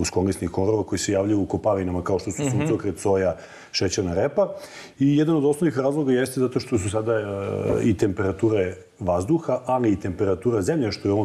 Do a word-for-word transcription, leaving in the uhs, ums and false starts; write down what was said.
uskorisnih korova koji se javljaju u kopavinama kao što su suncokret, soja, šećerna repa. I jedan od osnovnih razloga jeste zato što su sada i temperature vazduha, ali i temperatura zemlje, što je u ovom